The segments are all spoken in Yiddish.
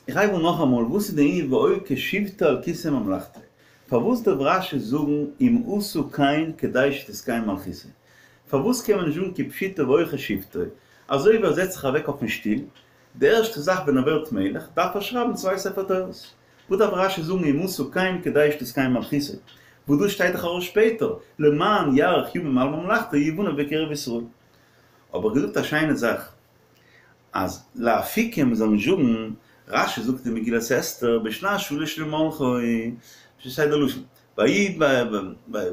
איך הייב אן נאכאמאל, וואס איז די ענין והיה כשבתו על כסא ממלכתו? פארוואס דארף רש"י זאגן אם עשה כן כדי שתתקיים מלכותו? פארוואס קען מען נישט זאגן כפשוטו והיה כשבתו, אזוי ווי ער זעצט זיך אוועק אויפן שטול, די ערשטע זאך ווען ער ווערט מלך דארף ער שרייבן צוויי ספר תורות? וואס דארף רש"י זאגן אם עשה כן כדי שתתקיים מלכותו? וואס דאס שטייט דאך ארויס שפעטער, למען יאריך ימים על ממלכתו יבנה בקרב ישראל. האב איך געזאגט א שיינע זאך, אז לאפוקי מ'זאל נישט זאגן, רש"י זאגט אין מגילת אסתר בשנת שלש למלכו, שטייט די לשון, ויהי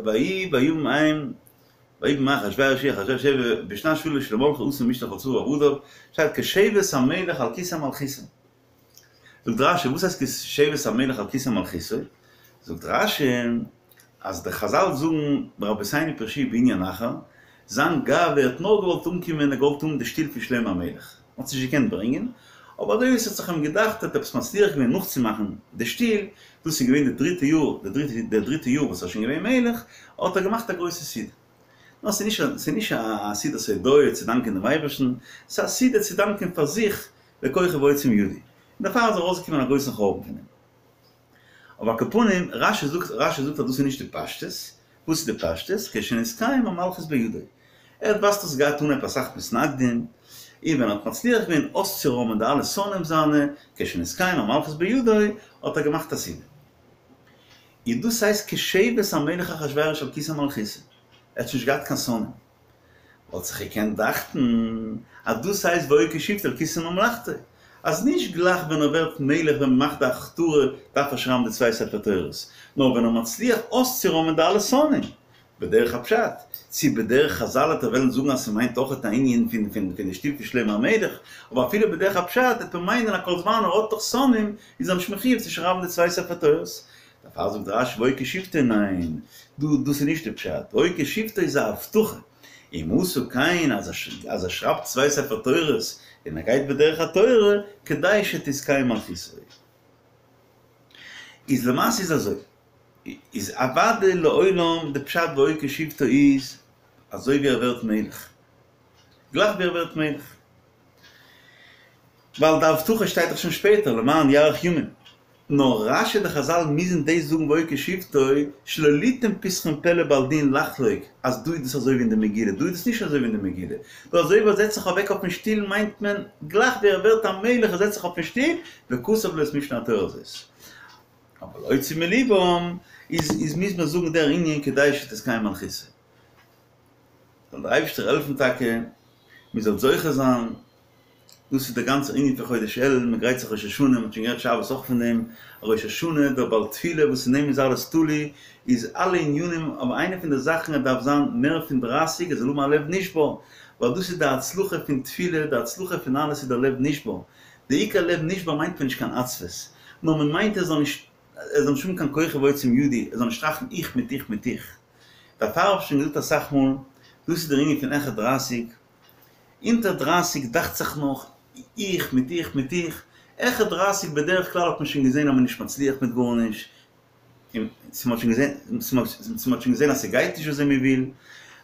ויהי בימים ההם ויהי בימי אחשורוש אחשורוש בשנת שלש למלכו עשה משתה לכל שריו ועבדיו, שטייט כשבת המלך על כסא מלכותו. זאגט רש"י וואס הייסט כשבת המלך על כסא מלכותו? זאגט רש"י אז די חזל זאגן רבותינו פירשוהו בענין אחר, זיין גאווה ער האט נאר געוואלט אנקומען ער געוואלט האבן די שטול פון שלמה המלך, מען האט עס נישט געקענט ברענגען, אבער אזוי ווי עס האט זיך אים געדאכט ער האט עפעס מצליח געווען נאכצומאכן די שטול, דאס איז געווען די דריטע יאר, די דריטע יאר וואס ער איז שוין געווען מלך, האט ער געמאכט א גרויסע סעודה. נאר ס'איז נישט ס'איז נישט א סעודת הודאה צו דאנקען דעם אייבערשטן, ס'איז א סעודה צו דאנקען פאר זיך לכוחי ועוצם ידי, און דערפאר איז ארויסגעקומען א גרויסן חורבן פון דעם. אבער על כל פנים, רש"י זאגט רש"י זאגט אז דאס איז נישט די פשטות, וואס איז די פשטות? כשנתקיים המלכות בידו. ער האט ווייזט אויס געהאט אנהייב אסאך מתנגדים, און ווען ער האט מצליח געווען אויסצוראמען די אלע שונאים זיינע, כשנתקיים המלכות בידו, האט ער געמאכט א סעודה. און דאס הייסט כשבת המלך אחשורוש על כסא מלכותו, ער האט שוין נישט געהאט קיין שונאים. וואלט זיך געקענט דאכטן אז דאס הייסט והיה כשבתו על כסא ממלכתו, אז נישט גלייך ווען ער ווערט מלך ווען מ'מאכט די הכתרה דארף ער שרייבן די צוויי ספר תורות, נאר ווען ער מצליח אויסצוראמען די אלע שונאים, בדרך הפשט, צי בדרך חזל וועט ער וועלן זאגן אז ס'מיינט אויכעט א ענין פון פון פון די שטול פון שלמה המלך, אבער אפילו בדרך הפשט וועט מען מיינען אז כל זמן ער האט נאך שונאים איז ער נישט מחויב צו שרייבן די צוויי ספר תורות. דערפאר זאגט רש"י והיה כשבתו ניין, דא דאס איז נישט די פשט, והיה כשבתו איז א הבטחה, אם עשה כן אז אז ער שרייבט צוויי ספר תורות און ער גייט בדרך התורה כדי שתתקיים מלכותו. איז למעשה איז אזוי, איז אוודאי לעולם די פשט והיה כשבתו איז אזוי ווי ער ווערט מלך, גלייך ווי ער ווערט מלך, ווייל די הבטחה שטייט דאך שוין שפעטער למען יאריך ימים. נאר רש"י די חזל מוזן דאס זאגן והיה כשבתו שלא ליתן פתחון פה לבעל דין לחלוק אז דא איז דאס אזוי ווי אין די מגילה דא איז דאס נישט אזוי ווי אין די מגילה דא אזוי ווי ער זעצט זיך אוועק אויפן שטול מיינט מען גלייך ווי ער ווערט א מלך ער זעצט זיך אויפן שטול וכתב לו את משנה התורה הזאת אבער להוציא מליבם איז איז מוז מען זאגן דער ענין כדי שתתקיים מלכותו זאל דער אייבערשטער העלפן טאקע מען זאל זוכה זיין דאס איז דער גאנצער ענין פון חודש אלול, מען גרייט זיך ראש השנה, מען האט שוין גערעדט שבת אויך פון דעם, ראש השנה, דער בעל תפילה וואס אין אים איז אלעס תלוי, איז אלע ענינים, אבער איינע פון די זאכן ער דארף זיין מער פון דרייסיג, ער זאל האבן א לב נשבר, ווייל דאס איז די הצלחה פון תפילה, די הצלחה פון אלעס איז דער לב נשבר, די עיקר לב נשבר מיינט מען נישט קיין עצבות, נאר מען מיינט ער זאל נישט, ער זאל נישט האבן קיין כוחי ועוצם ידי, ער זאל נישט טראכטן איך מיט איך מיט איך. דערפאר האב איך שוין געזאגט אסאך מאל, דאס איז דער ענין פון העכער דרייסיג, אונטער דרייסיג דאכט זיך נאך איך מיט איך מיט איך, העכער דרייסיג בדרך כלל האט מען שוין געזען אז מען איז נישט מצליח מיט גארנישט, און צו מען האט שוין געזען צו מען האט שוין געזען אז ס'גייט נישט וויאזוי מען וויל,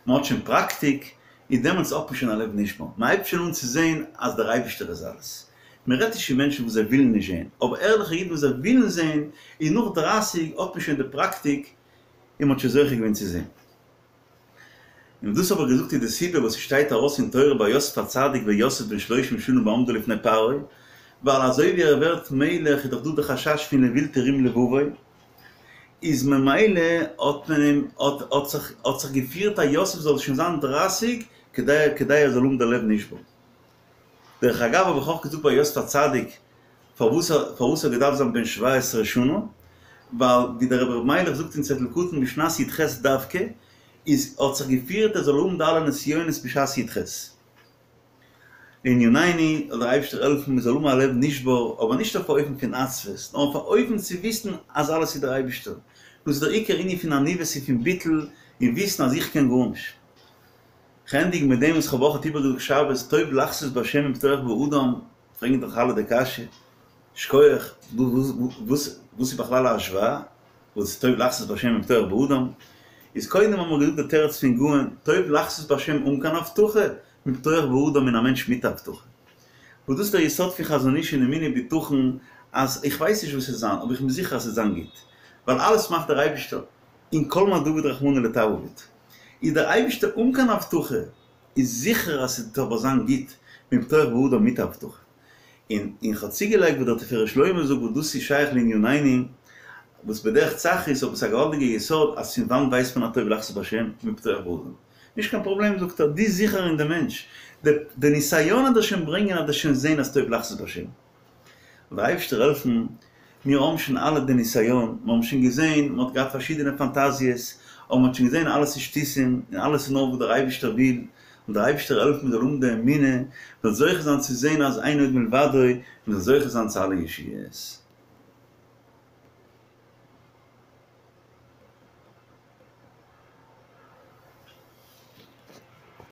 מען האט שוין פראקטיק, און דעמאלטס האט מען שוין א לב נשבר, מען הייבט שוין אן צו זען אז דער אייבערשטער איז אלעס. מען רעדט נישט פון מענטשן וואס זיי ווילן נישט זען, אבער ערליכע אידן וואס זיי ווילן זען, און נאך דרייסיג האט מען שוין די פראקטיק און מען האט שוין זוכה געווען צו זען. און דאס האב איך געזאגט איז די סיבה וואס ס'שטייט ארויס אין תורה ביי יוסף הצדיק ויוסף בן שלושים שנה בעמדו לפני פרעה, ווייל אזוי ווי ער ווערט מלך איז דאך דא די חשש פון לבלתי רום לבבו, איז ממילא האט מען אים האט האט זיך האט זיך געפירט אז יוסף זאל שוין זיין דרייסיג כדי כדי ער זאל האבן די לב נשבר. דרך אגב האב איך אויך געזאגט ביי יוסף הצדיק פארוואס פארוואס ער האט געדארפט זיין בן שבע עשרה שנה, ווייל ווי דער רבי ר' מיילעך זאגט אין צעטל קטן בשנת י"ח דווקא, איז האט זיך געפירט ער זאל האבן די אלע נסיונות בשעת י"ח. לענינינו, זאל דער אייבערשטער העלפן מען זאל האבן א לב נשבר, אבער נישט אויף א אופן פון עצבות, נאר אויף א אופן צו וויסן אז אלעס איז דער אייבערשטער. דאס איז דער עיקר ענין פון עניוות און פון ביטול, און וויסן אז איך קען גארנישט. כ'ענדיג מיט דעם וואס כ'האב אויך איבערגעזאגט שבת, טוב לחסות בהשם מבטוח באדם, פרעגן דאך אלע די קשיא, שכוח, וואס איז בכלל א השוואה? וואס איז טוב לחסות בהשם מבטוח באדם? איז קודם האבן מיר געזאגט די תירוץ פון גאון, טוב לחסות בהשם אן קיין הבטחה, מבטוח באדם אין א מענטש מיט הבטחה. וואס דאס איז דער יסוד פון חזון איש אין אמונה ובטחון. אז איך ווייס נישט וואס עס וועט זיין, אבער איך בין זיכער אז עס וועט זיין גוט, ווייל אלעס מאכט דער אייבישטער, און כל מה דעביד רחמנא לטב עביד. איז דער אייבישטער אן קיין הבטחה, איז זיכער אז ס'וועט אבער זיין גוט, מבטוח באדם מיט הבטחה. און און כ'האב צוגעלייגט וואס דער תפארת שלמה זאגט וואס דאס איז שייך לענינינו, וואס בדרך צחות אבער ס'איז א געוואלדיגע יסוד אז פון וואנט ווייסט מען אז טוב לחסות בהשם? מבטוח באדם. נישט קיין פראבלעם זאגט ער, דו זיכער אין די מענטש, די די נסיון וועט דיר שוין ברענגען אז דו וועסט שוין זען אז טוב לחסות בהשם. זאל דער אייבערשטער העלפן מיר האבן שוין אלע די נסיון, מיר האבן שוין געזען, מען האט געהאט פארשידענע פאנטאזיעס, אבער מען האט שוין געזען אלעס איז שטותים, און אלעס איז נאר וואס דער אייבערשטער וויל, און דער אייבערשטער העלפן מען זאל האבן די אמונה, מען זאל זוכה זיין צו זען אז אין עוד מלבדו, מען זאל זוכה זיין צו אלע ישועות.